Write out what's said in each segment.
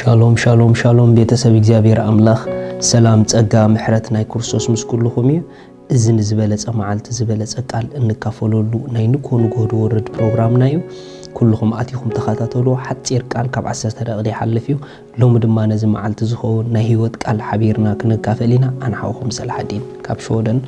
ሻሎም ሻሎም ሻሎም፣ ቤተሰብ እግዚኣብሔር ኣምላኽ፣ ሰላም፣ ጸጋ፣ ምሕረት ናይ ክርስቶስ ምስ ኩልኹም እዩ። እዚ ንዝበለጸ መዓልቲ ዝበለጸ ቃል እንካፈለሉ ናይ ንግሆ ንግሆ ዝወርድ ፕሮግራምና እዩ። ኩልኹም ኣቲኹም ተኸታተሉ። ሓጺር ቃል ካብ ዓሰርተ ደቂቕ ይሓልፍ እዩ። ሎሚ ድማ ነዚ መዓልቲ ዝኸውን ናይ ህይወት ቃል ሓቢርና ክንካፈል ኢና። ኣነ ሓውኹም ሰላሓዲን ካብ ሽወደን፣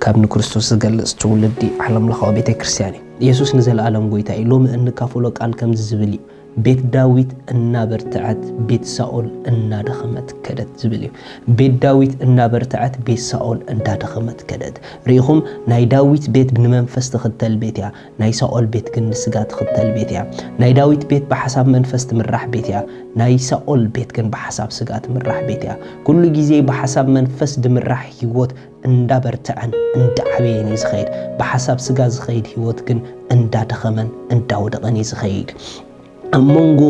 ካብ ንክርስቶስ ዝገልጽ ትውልዲ ዓለም ለኻዊ ቤተ ክርስቲያን እዩ። የሱስ ንዘለኣለም ጎይታ እዩ። ሎሚ እንካፈሎ ቃል ከምዚ ዝብል እዩ። ቤት ዳዊት እናበርትዐት ቤት ሳኦል እናደኸመት ከደት ዝብል እዩ። ቤት ዳዊት እናበርትዐት ቤት ሳኦል እንዳደኸመት ከደት። ርኢኹም፣ ናይ ዳዊት ቤት ንመንፈስ ትኽተል ቤት እያ፣ ናይ ሳኦል ቤት ግን ንስጋ ትኽተል ቤት እያ። ናይ ዳዊት ቤት ብሓሳብ መንፈስ ትምራሕ ቤት እያ፣ ናይ ሳኦል ቤት ግን ብሓሳብ ስጋ ትምራሕ ቤት እያ። ኩሉ ግዜ ብሓሳብ መንፈስ ድምራሕ ህይወት እንዳበርትዐን እንዳዓበየን እዩ ዝኸይድ። ብሓሳብ ስጋ ዝኸይድ ህይወት ግን እንዳደኸመን እንዳወደቐን እዩ ዝኸይድ። ኣብ መንጎ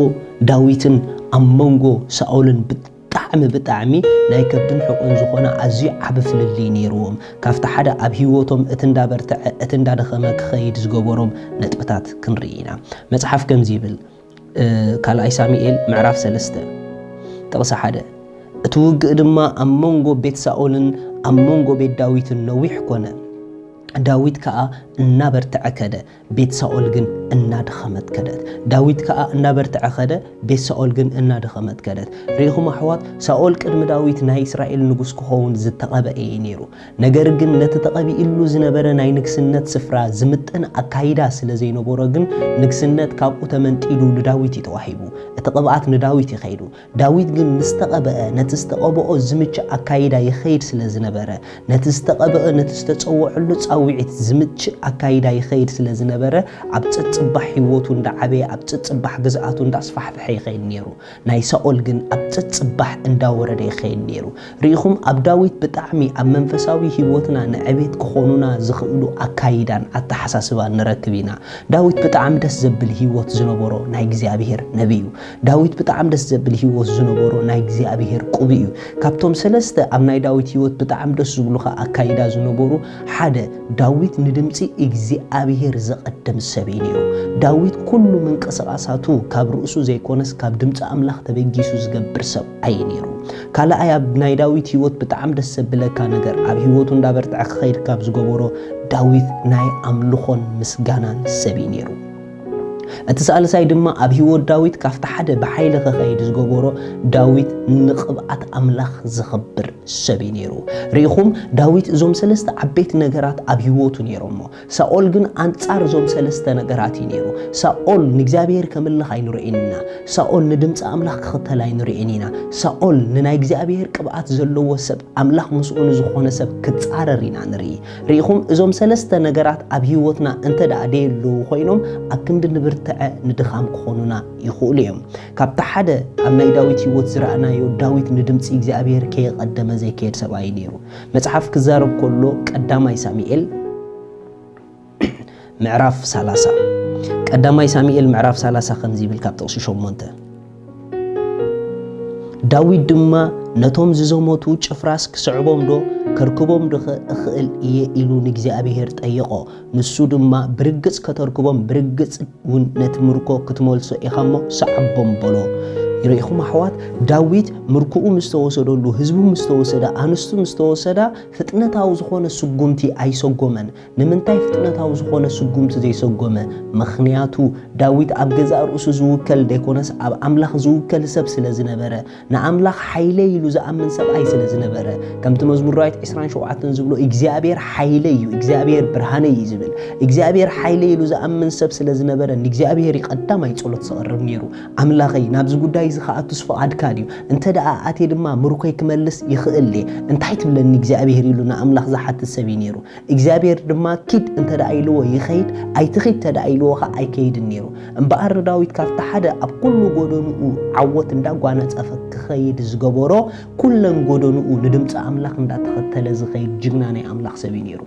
ዳዊትን ኣብ መንጎ ሳኦልን ብጣዕሚ ብጣዕሚ ናይ ከብድን ሕቁን ዝኾነ ኣዝዩ ዓቢ ፍልልይ ነይርዎም። ካብቲ ሓደ ኣብ ህይወቶም እቲ እንዳበርትዐ እቲ እንዳደኸመ ክኸይድ ዝገበሮም ነጥብታት ክንርኢ ኢና። መጽሓፍ ከምዚ ይብል፣ እ፣ ካልኣይ ሳሙኤል ምዕራፍ ሰለስተ ጥቕሲ ሓደ፣ እቲ ውግእ ድማ ኣብ መንጎ ቤት ሳኦልን ኣብ መንጎ ቤት ዳዊትን ነዊሕ ኮነ። ዳዊት ከኣ እናበርትዐ ከደ፣ ቤት ሳኦል ግን እናደኸመት ከደት። ዳዊት ከኣ እናበርትዐ ከደ፣ ቤት ሳኦል ግን እናደኸመት ከደት። ርኢኹም ኣሕዋት፣ ሳኦል ቅድሚ ዳዊት ናይ እስራኤል ንጉስ ክኸውን ዝተቐበአ እዩ ነይሩ። ነገር ግን ነቲ ተቐቢእሉ ዝነበረ ናይ ንግስነት ስፍራ ዝምጥን ኣካይዳ ስለ ዘይነበሮ ግን ንግስነት ካብኡ ተመንጢሉ ንዳዊት እዩ ተዋሂቡ። እቲ ቅብኣት ንዳዊት እዩ ከይዱ። ዳዊት ግን ምስ ተቐበአ ነቲ ዝተቐብኦ ዝምችእ ኣካይዳ ይኸይድ ስለ ዝነበረ፣ ነቲ ዝተቐብአ ነቲ ዝተጸውዐሉ ጻውዒት ዝምችእ ኣካይዳ ይኸይድ ስለ ዝነበረ፣ ኣብ ጸጽባሕ ህይወቱ እንዳዓበየ ኣብ ጸጽባሕ ግዝኣቱ እንዳስፋሕፍሐ ይኸይድ ነይሩ። ናይ ሳኦል ግን ኣብ ጸጽባሕ እንዳወረደ ይኸይድ ነይሩ። ርኢኹም፣ ኣብ ዳዊት ብጣዕሚ ኣብ መንፈሳዊ ህይወትና ንዕቤት ክኾኑና ዝኽእሉ ኣካይዳን ኣተሓሳስባን ንረክብ ኢና። ዳዊት ብጣዕሚ ደስ ዘብል ህይወት ዝነበሮ ናይ እግዚኣብሔር ነቢይ እዩ። ዳዊት ብጣዕሚ ደስ ዘብል ህይወት ዝነበሮ ናይ እግዚኣብሔር ቅቡእ እዩ። ካብቶም ሰለስተ ኣብ ናይ ዳዊት ህይወት ብጣዕሚ ደስ ዝብሉኻ ኣካይዳ ዝነበሩ፣ ሓደ፣ ዳዊት ንድምፂ እግዚኣብሔር ዘቐድም ሰብ እዩ ነይሩ። ዳዊት ኩሉ ምንቅስቓሳቱ ካብ ርእሱ ዘይኮነስ ካብ ድምፂ ኣምላኽ ተበጊሱ ዝገብር ሰብ ኣየ ነይሩ። ካልኣይ ኣብ ናይ ዳዊት ህይወት ብጣዕሚ ደስ ዘብለካ ነገር ኣብ ህይወቱ እንዳበርትዐ ክኸይድ ካብ ዝገበሮ፣ ዳዊት ናይ ኣምልኾን ምስጋናን ሰብ እዩ ነይሩ። እቲ ሳልሳይ ድማ ኣብ ህይወት ዳዊት ካብቲ ሓደ ብሓይሊ ክኸይድ ዝገበሮ፣ ዳዊት ንቕብኣት ኣምላኽ ዘኽብር ሰብ እዩ ነይሩ። ርኢኹም፣ ዳዊት እዞም ሰለስተ ዓበይቲ ነገራት ኣብ ህይወቱ ነይሮሞ። ሳኦል ግን ኣንጻር እዞም ሰለስተ ነገራት እዩ ነይሩ። ሳኦል ንእግዚኣብሔር ከምልኽ ኣይንርእይን ኢና። ሳኦል ንድምፂ ኣምላኽ ክኽተል ኣይንርእይን ኢና። ሳኦል ንናይ እግዚኣብሔር ቅብኣት ዘለዎ ሰብ፣ ኣምላኽ ምስኡ ንዝኾነ ሰብ ክጻረር ኢና ንርኢ። ርኢኹም፣ እዞም ሰለስተ ነገራት ኣብ ህይወትና እንተ ደኣ ደየለዉ ኮይኖም፣ ኣብ ክንዲ ንብርትዐ ንድኻም ክኾኑና ይኽእሉ እዮም። ካብቲ ሓደ ኣብ ናይ ዳዊት ህይወት ዝረኣናዮ፣ ዳዊት ንድምፂ እግዚኣብሔር ከየቐደመ ዘይከየድ ሰብኣይ ነይሩ። መጽሓፍ ክዛረብ ከሎ ቀዳማይ ሳሙኤል ምዕራፍ ሰላሳ፣ ቀዳማይ ሳሙኤል ምዕራፍ ሰላሳ ከምዚ ይብል ካብ ጥቕሲ ሸሞንተ፣ ዳዊት ድማ ነቶም ዝዘመቱ ጭፍራስ ክስዕቦም ዶ ከርክቦም ዶ እኽእል እየ ኢሉ ንእግዚኣብሔር ጠየቖ። ንሱ ድማ ብርግጽ ከተርክቦም ብርግጽ እውን ነቲ ምርኮ ክትመልሶ ኢኻ እሞ ሰዓቦም በሎ። ይርኢኹም ኣሕዋት፣ ዳዊት ምርኮኡ ምስ ተወሰደሉ፣ ህዝቡ ምስ ተወሰደ፣ ኣንስቱ ምስ ተወሰዳ፣ ፍጥነታዊ ዝኾነ ስጉምቲ ኣይሰጎመን። ንምንታይ ፍጥነታዊ ዝኾነ ስጉምቲ ዘይሰጎመ? ምኽንያቱ ዳዊት ኣብ ገዛእ ርእሱ ዝውከል ዘይኮነስ ኣብ ኣምላኽ ዝውከል ሰብ ስለ ዝነበረ፣ ንኣምላኽ ሓይለይ ኢሉ ዝኣምን ሰብኣይ ስለ ዝነበረ፣ ከምቲ መዝሙር ዳዊት ዕስራን ሸውዓተን ዝብሎ እግዚኣብሔር ሓይለይ እዩ፣ እግዚኣብሔር ብርሃነይ እዩ ዝብል። እግዚኣብሔር ሓይለይ ኢሉ ዝኣምን ሰብ ስለ ዝነበረ ንእግዚኣብሔር እዩ ቀዳማይ ጸሎት ዘቕርብ ነይሩ። ኣምላኸይ፣ ናብዚ ጉዳይ እዚ ክኣቱስ ፍቓድካ ድዩ? እንተ ደኣ ኣትየ ድማ ምርኮይ ክመልስ ይኽእል እየ። እንታይ ትብለኒ እግዚኣብሔር ኢሉ ንኣምላኽ ዝሓትት ሰብ እዩ ነይሩ። እግዚኣብሔር ድማ ኪድ እንተ ደኣ ኢልዎ ይኸይድ፣ ኣይትኺድ እንተ ደኣ ኢልዎ ኸኣ ኣይከይድን ነይሩ። እምበኣር ንዳዊት ካብቲ ሓደ ኣብ ኩሉ ጎደንኡ ዓወት እንዳጓነጸፈ ክኸይድ ዝገበሮ፣ ኩለን ጎደንኡ ንድምፂ ኣምላኽ እንዳተኸተለ ዝኸይድ ጅግና ናይ ኣምላኽ ሰብ እዩ ነይሩ።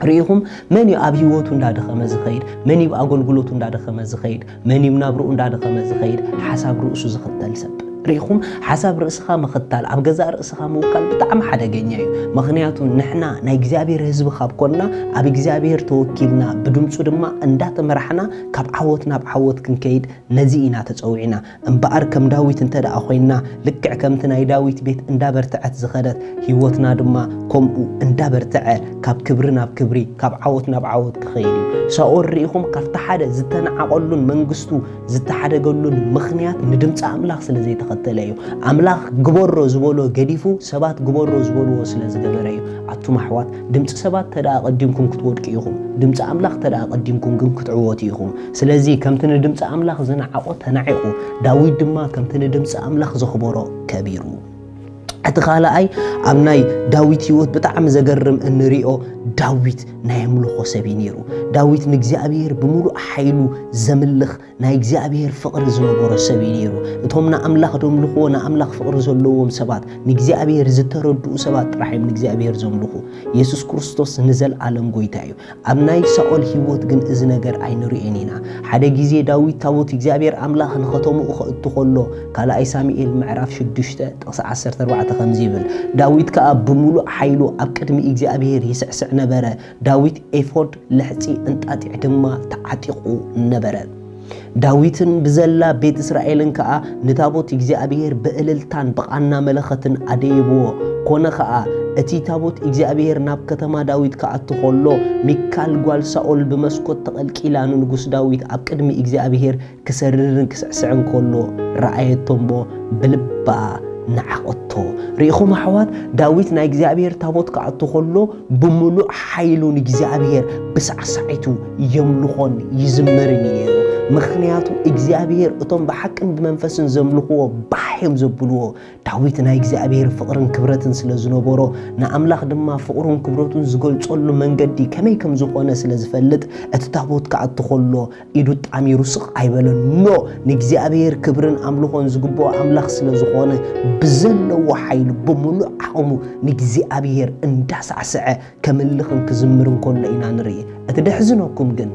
ርኢኹም፣ መን እዩ ኣብ ህይወቱ እንዳደኸመ ዝኸይድ? መን እዩ ኣብ ኣገልግሎቱ እንዳደኸመ ዝኸይድ? መን እዩ ናብርኡ እንዳደኸመ ዝኸይድ? ሓሳብ ርእሱ ዝኽተል ሰብ። ርኢኹም፣ ሓሳብ ርእስኻ ምኽታል፣ ኣብ ገዛእ ርእስኻ ምውካል ብጣዕሚ ሓደገኛ እዩ። ምኽንያቱ ንሕና ናይ እግዚኣብሔር ህዝቢ ካብ ኮንና፣ ኣብ እግዚኣብሔር ተወኪልና፣ ብድምፁ ድማ እንዳተመራሕና ካብ ዓወት ናብ ዓወት ክንከይድ ነዚ ኢና ተፀዊዕና። እምበኣር ከም ዳዊት እንተ ደኣ ኮይንና፣ ልክዕ ከምቲ ናይ ዳዊት ቤት እንዳበርትዐት ዝኸደት፣ ህይወትና ድማ ከምኡ እንዳበርትዐ ካብ ክብሪ ናብ ክብሪ፣ ካብ ዓወት ናብ ዓወት ክኸይድ እዩ። ሳኦል ርኢኹም፣ ካብቲ ሓደ ዝተናዓቐሉን መንግስቱ ዝተሓደገሉን ምኽንያት ንድምፂ ኣምላኽ ስለ ዘይተኸተለ እዩ። ኣምላኽ ግበሮ ዝበሎ ገዲፉ ሰባት ግበሮ ዝበልዎ ስለ ዝገበረ እዩ። ኣቱም ኣሕዋት፣ ድምፂ ሰባት ተደኣ ቀዲምኩም ክትወድቁ ኢኹም። ድምፂ ኣምላኽ ተደኣ ቀዲምኩም ግን ክትዕወቱ ኢኹም። ስለዚ ከምቲ ንድምፂ ኣምላኽ ዝነዓቖ ተናዒቑ፣ ዳዊት ድማ ከምቲ ንድምፂ ኣምላኽ ዘኽበሮ ከቢሩ። እቲ ካልኣይ፣ ኣብ ናይ ዳዊት ህይወት ብጣዕሚ ዘገርም እንሪኦ፣ ዳዊት ናይ ኣምልኾ ሰብ እዩ ነይሩ። ዳዊት ንእግዚኣብሔር ብምሉእ ሓይሉ ዘምልኽ ናይ እግዚኣብሔር ፍቕሪ ዝነበሮ ሰብ እዩ ነይሩ። እቶም ንኣምላኽ ዘምልኽዎ፣ ንኣምላኽ ፍቕሪ ዘለዎም ሰባት፣ ንእግዚኣብሔር ዝተረድኡ ሰባት ጥራሕ እዮም ንእግዚኣብሔር ዘምልኹ። የሱስ ክርስቶስ ንዘለኣለም ጎይታ እዩ። ኣብ ናይ ሳኦል ህይወት ግን እዚ ነገር ኣይንርእዮን ኢና። ሓደ ግዜ ዳዊት ታቦት እግዚኣብሔር ኣምላኽ ንኸተምኡ ከእቱ ከሎ፣ ካልኣይ ሳሙኤል ምዕራፍ ሽዱሽተ ጥቕሲ ዓሰርተ ኣርባዕተ ከምዚ ይብል፣ ዳዊት ከኣ ብምሉእ ሓይሉ ኣብ ቅድሚ እግዚኣብሔር ይስዕስዕ ነበረ። ዳዊት ኤፎድ፣ ልሕጺ እንጣጢዕ ድማ ተዓጢቑ ነበረ። ዳዊትን ብዘላ ቤት እስራኤልን ከኣ ንታቦት እግዚኣብሔር ብእልልታን ብቓና መለኸትን ኣደየብዎ። ኮነ ኸኣ፣ እቲ ታቦት እግዚኣብሔር ናብ ከተማ ዳዊት ክኣቱ ኸሎ፣ ሚካል ጓል ሳኦል ብመስኮት ተቐልቂላ ንንጉስ ዳዊት ኣብ ቅድሚ እግዚኣብሔር ክሰርርን ክስዕስዕን ከሎ ረኣየቶ እሞ ብልባ ነዓቐቶ። ርኢኹም ኣሕዋት፣ ዳዊት ናይ እግዚኣብሔር ታቦት ክኣቱ ከሎ ብምሉእ ሓይሉ ንእግዚኣብሔር ብሳዕሳዒቱ የምልኾን ይዝምርን እዩ ነይሩ። ምኽንያቱ እግዚኣብሔር እቶም ብሓቅን ብመንፈስን ዘምልኽዎ ባህ እዮም ዘብልዎ። ዳዊት ናይ እግዚኣብሔር ፍቕርን ክብረትን ስለ ዝነበሮ፣ ንኣምላኽ ድማ ፍቕሩን ክብረቱን ዝገልጸሉ መንገዲ ከመይ ከም ዝኾነ ስለ ዝፈልጥ፣ እቲ ታቦት ክኣቱ ከሎ ኢዱ ጣሚሩ ስቕ ኣይበለን። ኖ፣ ንእግዚኣብሔር ክብርን ኣምልኾን ዝግብኦ ኣምላኽ ስለ ዝኾነ፣ ብዘለዎ ሓይሉ ብምሉእ ዓቕሙ ንእግዚኣብሔር እንዳሳዕስዐ ከምልኽን ክዝምርን ከሎ ኢና ንርኢ። እቲ ደሕዝነኩም ግን፣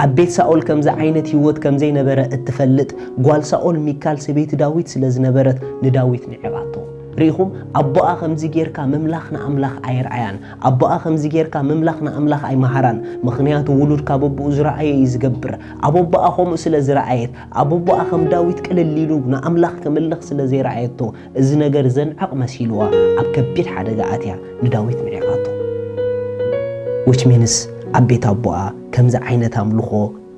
ኣብ ቤት ሳኦል ከምዚ ዓይነት ህይወት ከም ዘይነበረ እትፈልጥ ጓል ሳኦል ሚካል ሰበይቲ ዳዊት ስለ ዝነበረት ንዳዊት ንዒቓቶ። ርኢኹም፣ ኣቦኣ ከምዚ ጌርካ ምምላኽ ንኣምላኽ ኣይርኣያን። ኣቦኣ ከምዚ ጌርካ ምምላኽ ንኣምላኽ ኣይመሃራን። ምኽንያቱ ውሉድ ካብ ኣቦኡ ዝረኣየ እዩ ዝገብር። ኣብ ኣቦኣ ከምኡ ስለ ዝረኣየት፣ ኣብ ኣቦኣ ከም ዳዊት ቅልል ኢሉ ንኣምላኽ ክምልኽ ስለ ዘይረኣየቶ፣ እዚ ነገር ዘንዕቕ መሲልዋ ኣብ ከቢድ ሓደጋ ኣትያ ንዳዊት ንዒቓቶ። Which means ኣብ ቤት ኣቦኣ ከምዚ ዓይነት ኣምልኾ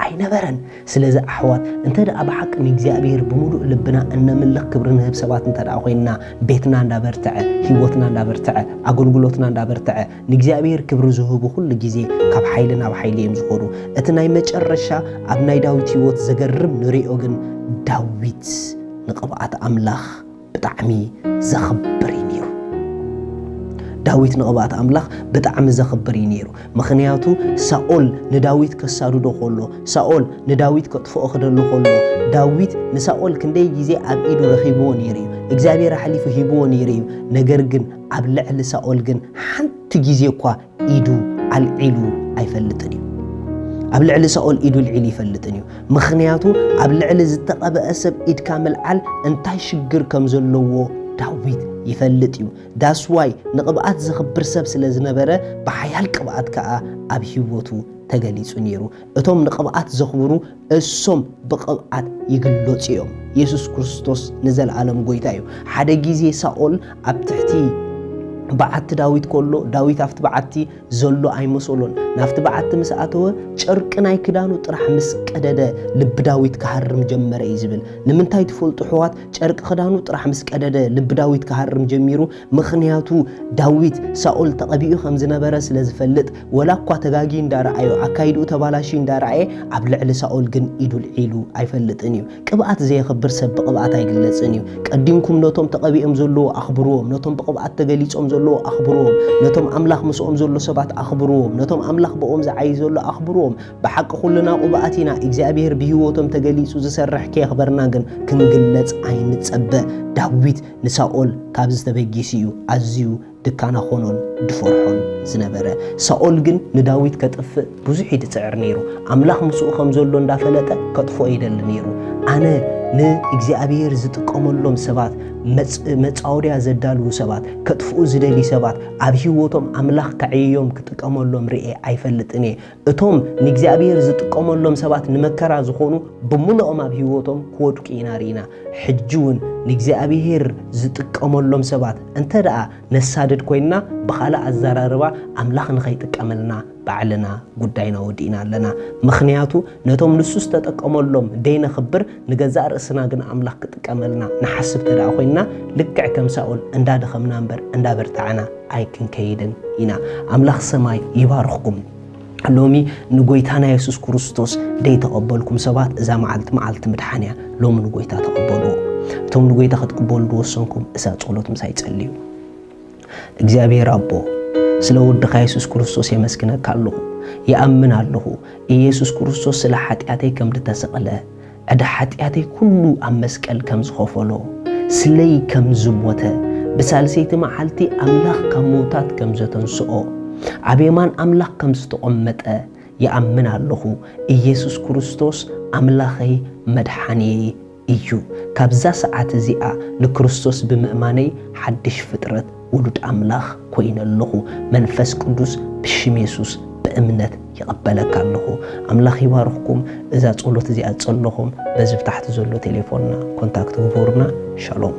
ኣይነበረን። ስለዚ ኣሕዋት፣ እንተ ደኣ ብሓቂ ንእግዚኣብሔር ብምሉእ ልብና እነምልኽ ክብሪ ንህብ ሰባት እንተ ደኣ ኮይንና፣ ቤትና እንዳበርትዐ፣ ህይወትና እንዳበርትዐ፣ ኣገልግሎትና እንዳበርትዐ፣ ንእግዚኣብሔር ክብሪ ዝህቡ ኩሉ ግዜ ካብ ሓይሊ ናብ ሓይሊ እዮም ዝኾኑ። እቲ ናይ መጨረሻ ኣብ ናይ ዳዊት ህይወት ዘገርም ንሪኦ ግን፣ ዳዊት ንቕብኣት ኣምላኽ ብጣዕሚ ዘኽብር እዩ ነይሩ። ዳዊት ንቕብኣት ኣምላኽ ብጣዕሚ ዘኽብር እዩ ነይሩ። ምኽንያቱ ሳኦል ንዳዊት ከሳድዶ ከሎ፣ ሳኦል ንዳዊት ከጥፍኦ ክደሊ ከሎ፣ ዳዊት ንሳኦል ክንደይ ግዜ ኣብ ኢዱ ረኺብዎ ነይሩ እዩ። እግዚኣብሔር ኣሕሊፉ ሂብዎ ነይሩ እዩ። ነገር ግን ኣብ ልዕሊ ሳኦል ግን ሓንቲ ግዜ እኳ ኢዱ ኣልዒሉ ኣይፈልጥን እዩ። ኣብ ልዕሊ ሳኦል ኢዱ ኣልዒሉ ይፈልጥን እዩ። ምኽንያቱ ኣብ ልዕሊ ዝተቐብአ ሰብ ኢድካ ምልዓል እንታይ ሽግር ከም ዘለዎ ዳዊት ይፈልጥ እዩ። That's why ንቕብኣት ዘኽብር ሰብ ስለ ዝነበረ፣ ብሓያል ቅብኣት ከኣ ኣብ ህይወቱ ተገሊጹ ነይሩ። እቶም ንቕብኣት ዘኽብሩ እሶም ብቕብኣት ይግለጹ እዮም። የሱስ ክርስቶስ ንዘለኣለም ጎይታ እዩ። ሓደ ግዜ ሳኦል ኣብ ትሕቲ በዓቲ ዳዊት ከሎ፣ ዳዊት ኣብቲ በዓቲ ዘሎ ኣይመሰሎን። ናብቲ በዓቲ ምስ ኣተወ፣ ጨርቂ ናይ ክዳኑ ጥራሕ ምስ ቀደደ፣ ልቢ ዳዊት ክሃርም ጀመረ እዩ ዝብል። ንምንታይ ትፈልጡ ኣሕዋት? ጨርቂ ክዳኑ ጥራሕ ምስ ቀደደ፣ ልቢ ዳዊት ክሃርም ጀሚሩ። ምኽንያቱ ዳዊት ሳኦል ተቐቢኡ ከም ዝነበረ ስለ ዝፈልጥ፣ ወላ እኳ ተጋጊ እንዳረኣዮ፣ ኣካይድኡ ተባላሽዩ እንዳረኣየ፣ ኣብ ልዕሊ ሳኦል ግን ኢዱ ልዒሉ ኣይፈልጥን እዩ። ቅብኣት ዘየኽብር ሰብ ብቕብኣት ኣይግለጽን እዩ። ቀዲምኩም ነቶም ተቐቢኦም ዘለዉ ኣኽብርዎም፣ ነቶም ብቕብኣት ተገሊጾም ዘለዉ ኣኽብርዎም፣ ነቶም ኣምላኽ ምስኦም ዘሎ ሰባት ኣኽብርዎም፣ ነቶም ኣምላኽ ብኦም ዝዓዪ ዘሎ ኣኽብርዎም። ብሓቂ ኩልና ቅቡኣት ኢና፣ እግዚኣብሔር ብህይወቶም ተገሊጹ ዝሰርሕ ከየኽበርና ግን ክንግለጽ ኣይንጸበ። ዳዊት ንሳኦል ካብዚ ተበጊሱ እዩ ኣዝዩ ድካና ኾኖን ድፈርሖን ዝነበረ። ሳኦል ግን ንዳዊት ከጥፍእ ብዙሕ እዩ ድጽዕር ነይሩ። ኣምላኽ ምስኡ ከም ዘሎ እንዳፈለጠ ከጥፍኦ ይደሊ ነይሩ። ኣነ ንእግዚኣብሔር ዝጥቀመሎም ሰባት፣ መጻወድያ ዘዳልዉ ሰባት፣ ከጥፍኡ ዝደልዩ ሰባት፣ ኣብ ህይወቶም ኣምላኽ ከዕይዮም ክጥቀመሎም ርኤ ኣይፈልጥን እየ። እቶም ንእግዚኣብሔር ዝጥቀመሎም ሰባት ንመከራ ዝኾኑ ብምልኦም ኣብ ህይወቶም ክወድቁ ኢና ርኢና። ሕጂ እውን ንእግዚኣብሔር ዝጥቀመሎም ሰባት እንተ ደኣ ነሳድድ ኮይንና፣ ብኻልእ ኣዘራርባ ኣምላኽ ንኸይጥቀመልና ባዕልና ጉዳይና ወዲእና ኣለና። ምኽንያቱ ነቶም ንሱ ዝተጠቀመሎም ደይነኽብር፣ ንገዛእ ርእስና ግን ኣምላኽ ክጥቀመልና ንሓስብ ተደኣ ኮይንና፣ ልክዕ ከም ሳኦል እንዳደኸምና እምበር እንዳበርታዕና ኣይክንከይድን ኢና። ኣምላኽ ሰማይ ይባርኽኩም። ሎሚ ንጎይታና የሱስ ክርስቶስ ደይተቐበልኩም ሰባት፣ እዛ መዓልቲ መዓልቲ ምድሓን እያ። ሎሚ ንጎይታ ተቐበልዎ። እቶም ንጎይታ ክትቅበሉ ዝወሰንኩም እዛ ጸሎት ምሳይ ጸልዩ። እግዚኣብሔር ኣቦ፣ ስለ ወድኻ የሱስ ክርስቶስ የመስግነካ ኣለኹ። ይኣምን ኣለኹ፣ ኢየሱስ ክርስቶስ ስለ ሓጢኣተይ ከም ዝተሰቕለ፣ ዕዳ ሓጢኣተይ ኩሉ ኣብ መስቀል ከም ዝኸፈሎ፣ ስለይ ከም ዝሞተ፣ ብሳልሰይቲ መዓልቲ ኣምላኽ ካብ ምውታት ከም ዘተንስኦ፣ ኣብ የማን ኣምላኽ ከም ዝተቐመጠ ይኣምን ኣለኹ። ኢየሱስ ክርስቶስ ኣምላኸይ መድሓንየይ እዩ። ካብዛ ሰዓት እዚኣ ንክርስቶስ ብምእማነይ ሓድሽ ፍጥረት ውሉድ ኣምላኽ ኮይነ ኣለኹ። መንፈስ ቅዱስ ብሽም የሱስ ብእምነት ይቐበለካ ኣለኹ። ኣምላኽ ይባርኽኩም። እዛ ጸሎት እዚኣ ጸለኹም በዚ ብታሕቲ ዘሎ ቴሌፎንና ኮንታክት ግበሩና። ሻሎም።